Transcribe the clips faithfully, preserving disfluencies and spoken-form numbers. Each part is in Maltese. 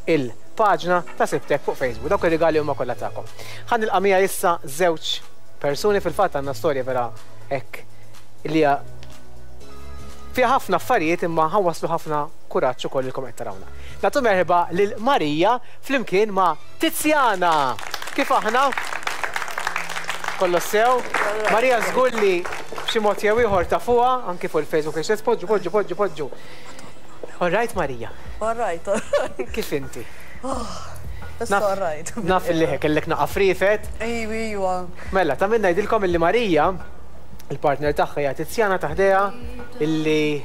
Il-paġna ta' Sibtek fuq Facebook. Dawk ir-rigali huma kollha tagħkom. Ħa nilqa' miegħi issa żewġ persuni. Fil-fatt għandna storja vera hekk li hija fiha ħafna affarijiet, imma ħa nwasslu ħafna kuraġġ ukoll lilkom qed tarawna. Nagħtu merħba lil Marija flimkien ma' Tiziana. Kif aħna? Kollox sew? Marija żgur li b'xi mod jew ieħor tafuha anki fuq il-Facebook li poġġu, poġġu, poġġu, poġġu. All right, Marija? All right, all right. Kif inti? Issa all right. Naf li kellek naqa frifet. Ejwa, ejwa. Mela, ta' minna ngħidilkom illi Marija, il-partner tagħha hija Tiziana ta' ħdejha, illi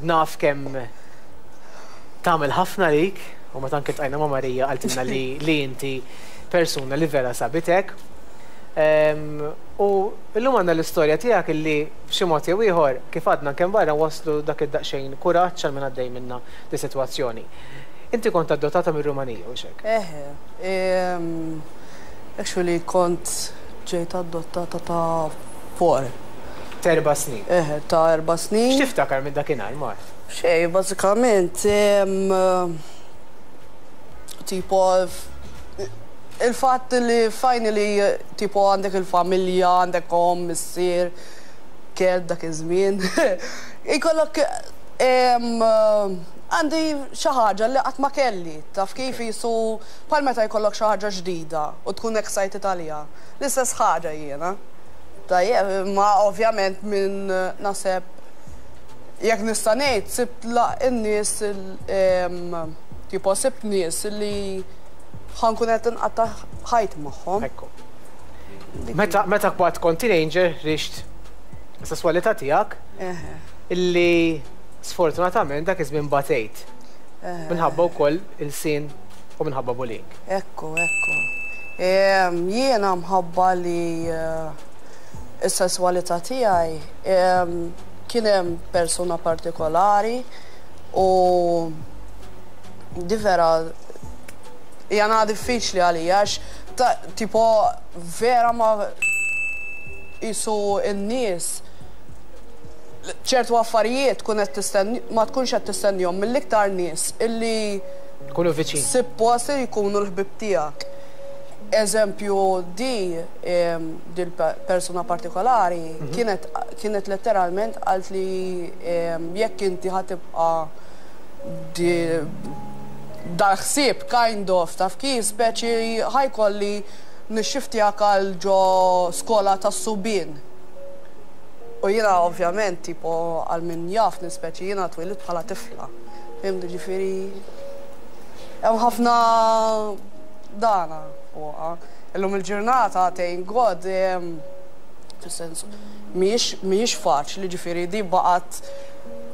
naf kemm tagħmel ħafna lik, u meta anke ltqajna ma' Marija qaltilna li li inti persuna li vera sabitek. Em, U illum għandna l-istorja tiegħek illi b'xi mod jew ieħor, kif għadna kemm barra, waslu dak id-daqsxejn kuraġġ għal min għaddej minna di sitwazzjoni. Inti kont adottata mir-Rumanija, u hekk? Eħe. em, Actually kont ġejt adottata ta' four. T'erba' snin. Eħe, ta' erba' snin. X'tiftakar minn dakinhar, Mar? Xej, bażikament, em, tipo, f- il-fatt li finally, tipo, għandek il-familja, għandek om, missier, kelb dak iż-żmien. Ikollok em, għandi xi ħaġa li qatt ma kelli, taf kif, jisu bħal meta jkollok xi ħaġa ġdida u tkun excited għaliha. L-istess ħaġa jiena. Tajjeb, ma ovvjament minn naħseb jekk nista' ngħid sibt la n-nies il- em, tipo sibt nies li ħa nkun qed inqatta' ħajti magħhom. Ekku. Meta meta kont kont teenager rixt sesswalità tiegħek Eħe. illi sfortunatament dak iż-żmien batejt. Eħe. Minħabba wkoll il-sin u minħabba bullying. Ekku, ekku. Em, Jiena mħabba li eh, is-sesswalità tiegħi em, kien hemm persuna partikolari u di vera jana diffiċli għalija għax ta' tipo vera ma jisu n-nies ċertu affarijiet tkun qed tistenni, ma tkunx qed tistennihom mill-iktar nies illi Kunu viċin. suppost jkunu l-ħbib tiegħek. Eżempju, di em, di l-persuna partikolari kienet kienet letteralment qalt li em, jekk inti ħa tibqa' di dal-ħsieb kind of, taf kif, speċi ħa jkolli nixxiftjak għal ġo skola tas-subien. U jiena ovvjament, tipo, għal min jaf speċi jiena twelidt bħala tifla. Fhimt, ġifieri, hemm ħafna dana fuqha. Illum il-ġurnata, thank God, em, fis-sens, mhijiex mhijiex faċli, ġifieri di baqgħet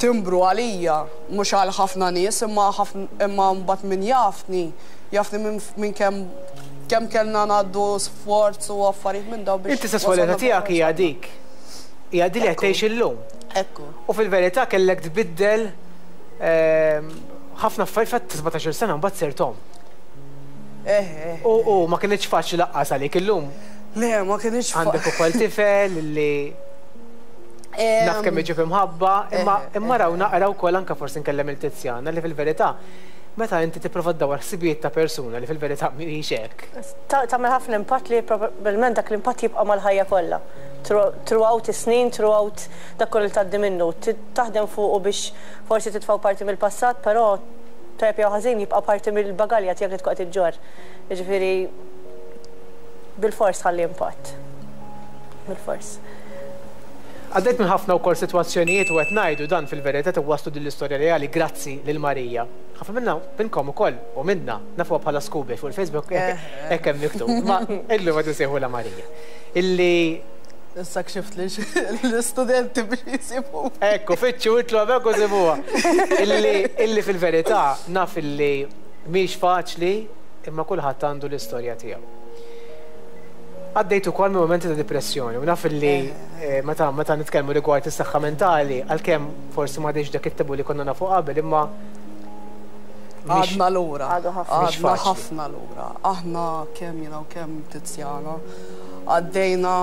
timbru għalija, mhux għal ħafna nies, imma ħafna imma mbagħad min jafni, jafni minn min kemm kemm kellna ngħaddu sforz u affarijiet minn daw biex Inti sesswalità wasalna tiegħek hija wasalna. dik. Hija di li qed Ekku. tgħix illum. Ekku. U fil-verità kellek tbiddel ehm, ħafna affarijiet fatt sbatax-il sena mbagħad sirt omm. Eh, eh. U u ma kienx faċli lanqas għalik illum. Le, ma kienx Għandek ukoll tifel li naf kemm iġib imħabba, imma Eh, imma raw naqra wkoll anke forsi nkellem il-Tiziana li fil-verità meta inti tipprova ddawar ħsibijiet ta' persuna li fil-verità mhijiex hekk. Ta- Tagħmel ħafna impatt li probabbilment dak l-impatt jibqa' mal-ħajja kollha. Throughout is-snin, throughout dak kollu li tgħaddi minnu. Ti- Taħdem fuqu biex forsi titfgħu parti mill-passat, però tajjeb jew ħażin jibqa' parti mill-bagalja tiegħek li tkun qed iġġorr. Jiġifieri bil-fors ħalli impatt. Bil-fors. Għaddejt minn ħafna wkoll sitwazzjonijiet u qed ngħidu dan fil-verità waslu din l-istorja reali grazzi lil Marija. Ħafna minna minnkom ukoll u minna nafuha bħala Scooby fuq il-Facebook, hekk hemm miktub. Ma illum qed insejħulha Marija. Illi Issa kxift li l-istudenti biex jisibu. Ekku, fittxu itlu għabek u sibuha. Illi, illi fil-verità naf illi mhix faċli, imma kulħadd għandu l-istorja tiegħu. Għaddejt ukoll minn momenti ta' depressjoni u naf illi eh, meta meta nitkellmu rigward is-saħħa mentali, għalkemm forsi ma dak it-tabu li konna nafu qabel, imma mhix- Għadna lura. Għadu ħafna. Mhix Għadna faċli. ħafna lura. Aħna kemm jiena u kemm Tiziana għaddejna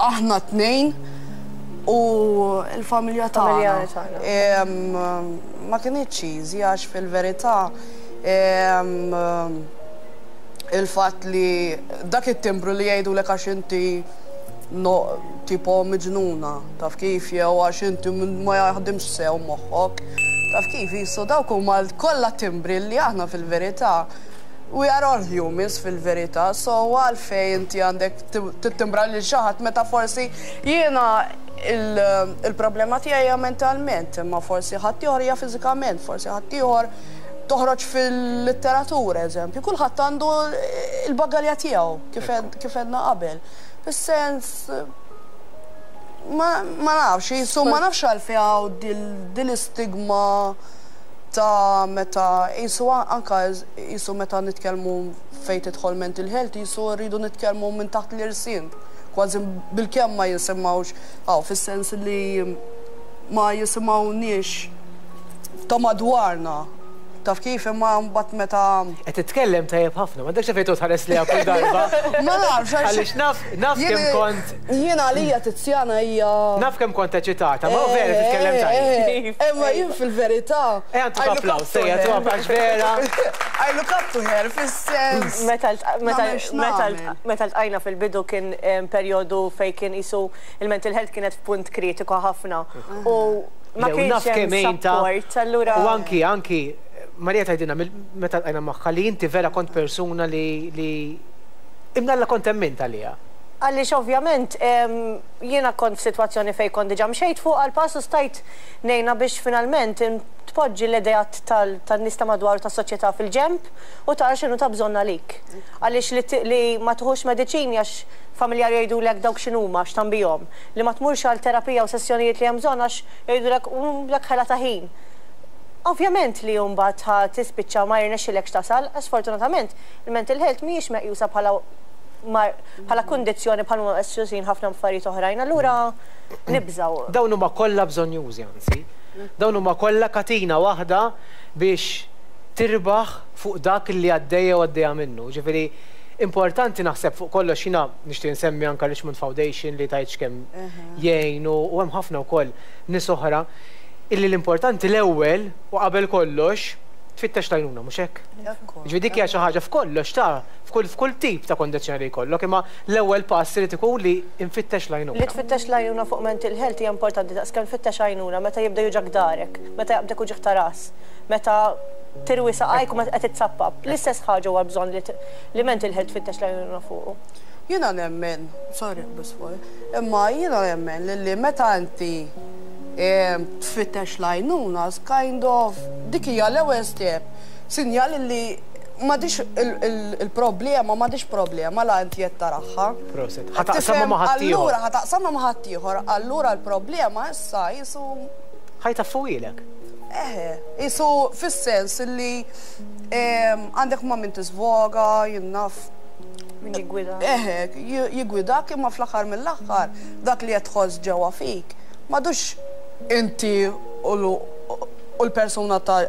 aħna tnejn u l-familja Familja tagħna. tagħna. Em, Ma kienx easy għax fil-verità Em, il-fatt li dak it-timbru li jgħidu lek għax inti no, tipo miġnuna, taf kif, jew għax inti ma jaħdimx sew moħħok, taf kif, jisu dawk huma kollha timbri li aħna fil-verità we are all humans fil-verità, so għalfejn inti għandek tittimbra lil xi ħadd meta forsi jiena il-problema tiegħi hija mentalment, imma forsi ħaddieħor hija fiżikament, forsi ħaddieħor toħroġ fil-litteratura, eżempju. Kulħadd għandu il-bagalja tiegħu kif għedna qabel. Fis-sens ma nafx, jisu ma nafx għalfejn hawn din l-istigma ta' meta jisu anka jisu meta nitkellmu fejn tidħol mental health, jisu rridu nitkellmu minn taħt l-irsin. Kważi bil-kemm ma jisimgħux, għaw, fis-sens li ma jisimgħuniex ta' madwarna. Taf kif, imma mbagħad meta Qed titkellem tajjeb ħafna, m'għandekx fejn tħares li kull darba. Ma nafx. Għaliex naf naf kemm kont Jiena għalija Tiziana hija Naf kemm kont eċitata, ma vera titkellem tajjeb. Imma jien fil-verità. Ejja ntuk applaws, ejja tu applaws vera. I look up to her fis-sens. Meta ltqajna fil-bidu kien perjodu fej kien isu il-mental health kienet f'punt kritiku ħafna. U ma kienx hemm support, allura. U anki anki Marija tgħidilna meta ltqajna magħha li inti vera kont persuna li li imnalla kont emmint għalija. Għaliex ovvjament jiena kont f'sitwazzjoni fej kont diġà mxejt fuq għal pass u stajt ngħinha biex finalment tpoġġi l-idejat tan-nies ta' madwar tas-soċjetà fil-ġemp u tara x'inhu ta' bżonn għalik. Għaliex li ma tieħux mediċini għax familjari jgħidulek dawk x'inhuma x'tambihom, li ma tmurx għal terapija u sessjonijiet li hemm bżonn għax jgħidulek dak ħela ta' ħin. Ovvjament li mbagħad ħa tispiċċa ma jirnexxilekx tasal, sfortunatament il-mental health mhijiex meqjusa bħala bħala kundizzjoni bħala meqjusin ħafna affarijiet oħrajn, allura nibżaw. Dawn huma kollha bżonjużi anzi. Dawn huma kollha katina waħda biex tirbaħ fuq dak li għaddejja u għaddejja minnu. Ġifieri importanti naħseb fuq kollox jiena nixtieq nsemmi anke Richmond Foundation li tgħidx kemm jgħinu u hemm ħafna wkoll nies oħra illi l-importanti l-ewwel u qabel kollox tfittex l-għajnuna, mhux hekk? Ġifieri dik hija xi ħaġa f'kollox ta' f'kull f'kull tip ta' kondizzjoni li jkollok, imma l-ewwel pass irid ikun li nfittex l-għajnuna. Li tfittex l-għajnuna fuq mental health hija importanti daqs kemm tfittex għajnuna meta jibda juġgħak dahrek, meta jaqbdek uġigħ ta' ras, meta tirwi saqajk u meta qed titsappap. L-istess ħaġa huwa bżonn li mental health tfittex l-għajnuna fuqu. Jiena nemmen, sorry bas fuq, imma jiena nemmen li meta inti tfittex l-għajnuna, kind of, dik hija l-ewwel step, sinjal li m'għadix il-problema, m'għadix problema la inti qed taraha. Prosit. Ħa taqsamha ma' ħaddieħor. Allura ħa taqsamha ma' ħaddieħor, allura l-problema issa jisu Ħa jtaffuhielek. Eħe, jisu fis-sens li għandek ma' min tisvoga, jien naf. Min jiggwida. Eħe, jiggwidak imma fl-aħħar mill-aħħar dak li qed tħoss ġewwa fik. M'għadux inti u l-persuna ta'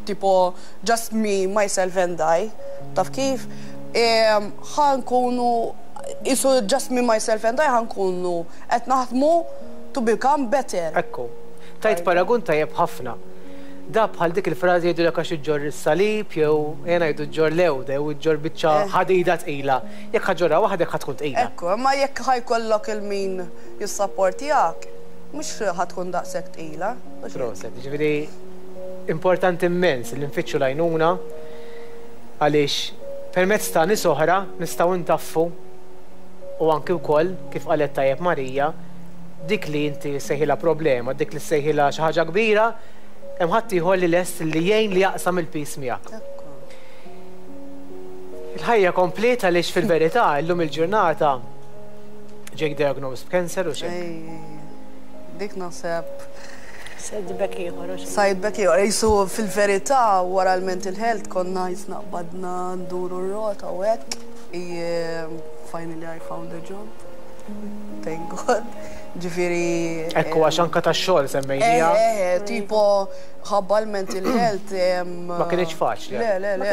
tipo just me, myself and I, taf kif? Ħa nkunu, jisu just me, myself and I ħa nkunu qed naħdmu to become better. Ekku, tajt paragun tajjeb ħafna. Da bħal dik il-frażi jgħidu għax iġġorr is-salib jew jena jgħidu ġġorr lewda jew iġġorr biċċa ħadida tqila. Jekk ħa ġġorrha waħdek ħa tkun tqila. Ekku, imma jekk ħa jkollok il-min jissapportjak, mhux ħa tkun daqshekk tqila. Proset, ġifieri importanti immens li nfittxu l-għajnuna għaliex permezz ta' nies oħra nistgħu ntaffu u anki wkoll kif qalet tajjeb Marija, dik li inti sejħilha problema, dik li sejħilha xi ħaġa kbira, hemm ħadd ieħor li lest li jgħin li jaqsam il-piż miegħek. Il-ħajja kompleta għaliex fil-verità illum il-ġurnata ġejk diagnosed b'cancer u xejn. Dik naħseb Setback ieħor. Setback ieħor. Jisu fil-verità wara l-mental health konna jisna qbadna nduru r-rota u hekk. Finally I found a job. Thank God. Ġifieri. Ekku għax anka tax-xogħol semmejnija. Eh, tipo ħabba l-mental health. Ma kienx faċli. Le, le, le.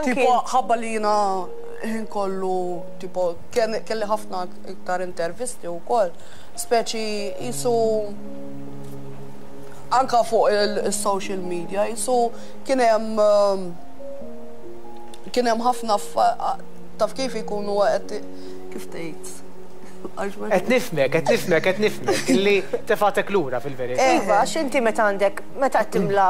Tipo ħabba li jiena ħin kollu, tipo, kelli ħafna iktar intervisti u koll. Speċi jisu anka fuq il-social media, jisu kien hemm Kien hemm ħafna affa- taf kif ikunu qed kif tgħid. Għax ma- Qed nifhmek, qed nifhmek, qed nifhmek, illi tefatek lura fil-verità. Iva, għax inti meta għandek, meta qed timla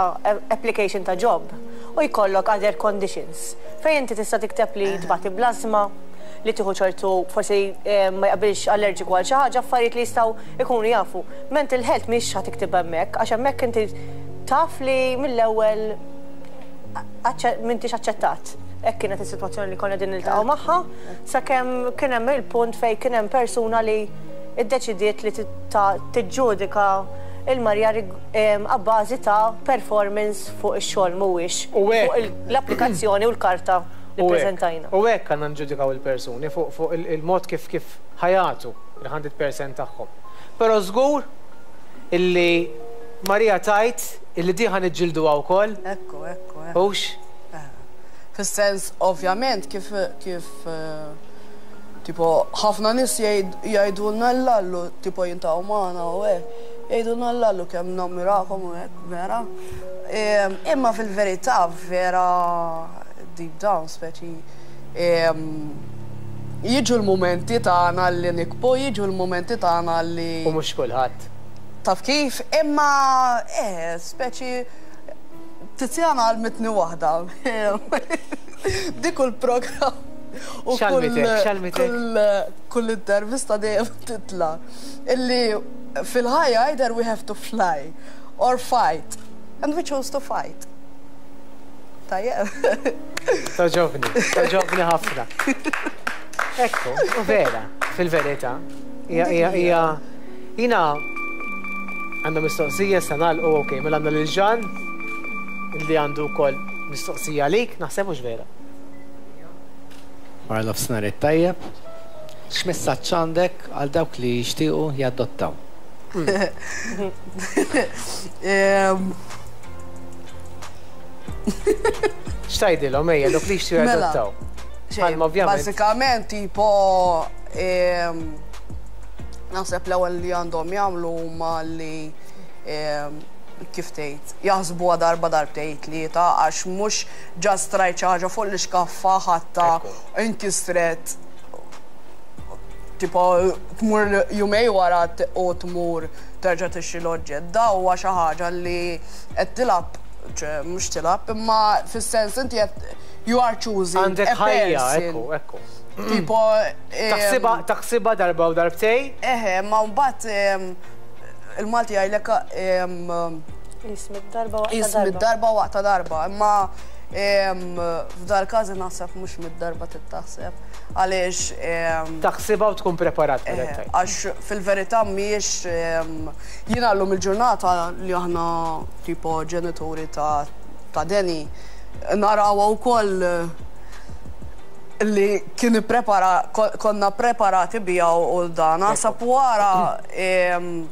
application ta' job u jkollok other conditions, fejn inti tista' tikteb li tbati bl-asma, li tieħu ċertu forsi eh, ma jaqbilx allerġiku għal xi ħaġa, affarijiet li jistgħu ikunu jafu. Mental health mhix ħa tikteb hemmhekk, għax hemmhekk inti taf li mill-ewwel m'intix aċċettat. Hekk kienet is-sitwazzjoni li konna din niltaqgħu magħha, sakemm kien hemm il-punt fejn kien hemm persuna li iddeċidiet li tiġġudika il-Marja abbażi ta' performance fuq ix-xogħol, mhuwiex U hekk. fuq l-applikazzjoni u l-karta li U hekk- preżentajna. U hekk għandna nġudikaw il-persuni fuq fuq il- il-mod kif kif ħajatu il-mija fil-mija tagħhom. Però żgur illi Marija tajt illi diħa niġġilduha wkoll, Ekku, ekku, ekku. hux? Fis-sens, ovvjament, kif kif eh, tipo, ħafna nies jgħid- jgħidulna l-lallu, tipo jintaw magħna u hekk, jgħidulna l-lallu kemm nammirakom u hekk, vera. Em, Imma fil-verità, vera deep down, speċi, em, jiġu l-momenti tagħna li nikbu, jiġu l-momenti tagħna li U mhux kulħadd. Taf kif, imma, eh, speċi, Tiziana għallmitni waħda. Dik il-program. U kull- X'għallmitek, x'għallmitek? Kull, kull intervista dejjem titla. Illi fil-ħajja either we have to fly or fight. And we chose to fight. Tajjeb. Togħġobni, togħġobni ħafna. Ekku, u vera, fil-verità. Ija, ija, ija, jina għandna mistoqsija sa nagħlqu, ok, mela għandna lil Ġan li għandu wkoll mistoqsija għalik, naħseb mhux vera. Wara nofsinhar it-tajjeb, x'messaġġ għandek għal dawk li jixtiequ jadottaw? Em, X'tgħidilhom, ejja, dawk li jixtiequ Mela. jadottaw? Xejn, Bħalma ovvjament. Bażikament, tipo, em, naħseb l-ewwel li għandhom jagħmlu huma li em, kif tgħid, jaħsbuha darba, darbtejn, tlieta, għax mhux just rajt xi ħaġa fuq l-iskaffa ħatta Ekku. inkisret, tipo tmur jumejn wara t- u tmur terġa' tixtri l-oġġett. Da huwa xi ħaġa li qed tilgħab, ċe mhux tilgħab, imma fis-sens inti qed you are choosing Għandek a ħajja, person. ekku, ekku. Tipo em, Taħsibha taħsibha darba u darbtejn, Eħe, ma mbagħad em, il-Malti jgħidlek em, Jismid darba waqta jis darba. mid-darba waqta darba, imma em, f'dal każ naħseb mhux mid-darba tittaħseb għaliex em, taħsibha u tkun preparat Eh, mela tgħid. Għax fil-verità mhijiex em, jiena llum il-ġurnata li aħna tipo ġenituri ta' ta' Deni narawha wkoll eh, li kien prepara ko- konna preparati bija u dan. Naħseb wara em,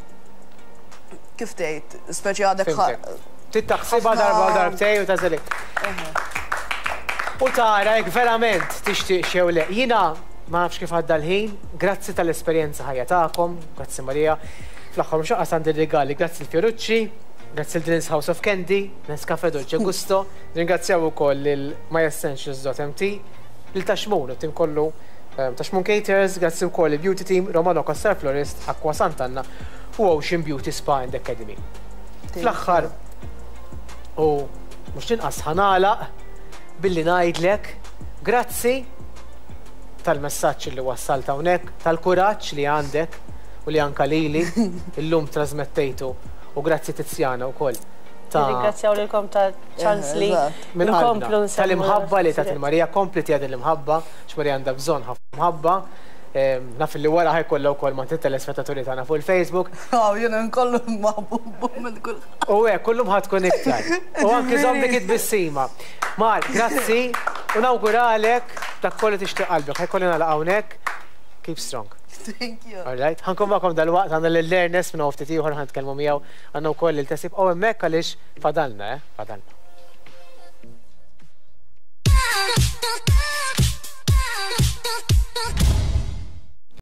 kif tgħid, speċi għadek Fhimtek. Trid taħsibha ħafna- darba u darbtejn u tażeli. U tara jekk verament tixtieq xew le. Jiena ma nafx kif għadda l-ħin, grazzi tal-esperjenza ħajja tagħkom, grazzi Marija. Fl-aħħar mhux anqas għandi rigali, grazzi l-Fiorucci, grazzi l-Drinks House of Candy, Nescafe Dolce Gusto, ringrazzjaw ukoll lil myessentials dot M T, lil Taxmun, u tim kollu eh, Taxmun Caters, grazzi wkoll il-Beauty Team, Romano Costa Florist, Aqua Sant'Anna u Ocean Beauty Spa and Academy. Fl-aħħar, u mhux inqas, ħa nagħlaq billi ngħidlek grazzi tal-messaġġ li wassalt hawnhekk, tal-kuraġġ li għandek u li anka lili illum trasmettejtu, u grazzi Tiziana wkoll ta' Ringrazzjaw lilkom ta' ċans li Eżatt. minn nkomplu qalbna nsemmu tal-imħabba li ta' l-affarijiet. Il-Marija kompli tiegħed l-imħabba, x'Marija għandha bżonn ħafna mħabba. Em, Naf li wara ħa jkollha wkoll ma' telespettaturi tagħna fuq il-Facebook. Aw, jiena nkollu maħbub minn kull. U hekk kullum ħa tkun iktar. U anki żomm dik it-tbissima. Mar, grazzi u nawguralek dak kollu tixtieq qalbek. Ħa jkolli nagħlaq hawnhekk. Keep strong. Thank you. All right. Ħa nkun magħkom dal-waqt, għandna l-Ernest minn ftit ieħor ħa nitkellmu miegħu, għandna wkoll il-tesib u hemmhekk għaliex fadalna, eh? Fadalna.